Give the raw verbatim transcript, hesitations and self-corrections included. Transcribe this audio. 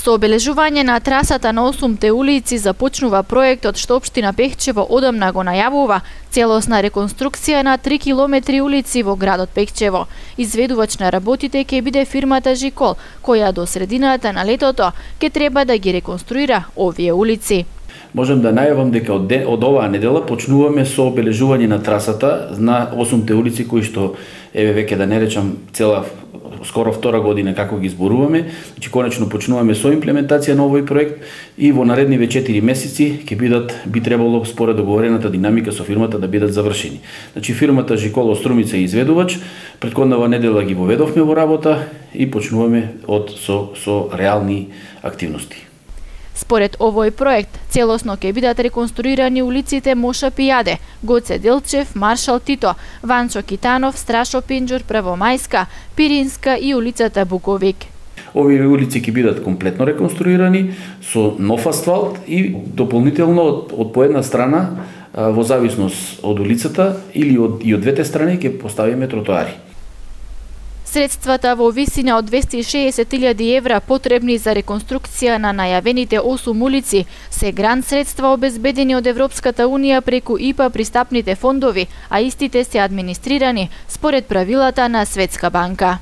Со обележување на трасата на осумте улици започнува проектот што општина Пехчево одамна го најавува, целосна реконструкција на три километри улици во градот Пехчево. Изведувач на работите ќе биде фирмата Жикол, која до средината на летото ќе треба да ги реконструира овие улици. Можем да најавам дека од, ден, од оваа недела почнуваме со обележување на трасата на осумте улици кои што еве веќе да не речам цела скоро втора година како ги зборуваме. Значи конечно почнуваме со имплементација на овој проект и во наредниве четири месеци ќе бидат би требало според договорената динамика со фирмата да бидат завршени. Значи фирмата Жикол Струмица е изведувач, претходнава недела ги воведовме во работа и почнуваме од со со реални активности. Според овој проект, целосно ќе бидат реконструирани улиците Моша Пијаде, Гоце Делчев, Маршал Тито, Ванчо Китанов, Страшо Пинџур, Првомајска, Пиринска и улицата Буковик. Овие улици ќе бидат комплетно реконструирани со нов асфалт и дополнително од, од по една страна, во зависност од улицата или од, и од двете страни ќе поставиме тротоари. Средствата во висина од двесте и шеесет илјади евра потребни за реконструкција на најавените осум улици се грант средства обезбедени од Европската унија преку ИПА пристапните фондови, а истите се администрирани според правилата на Светска банка.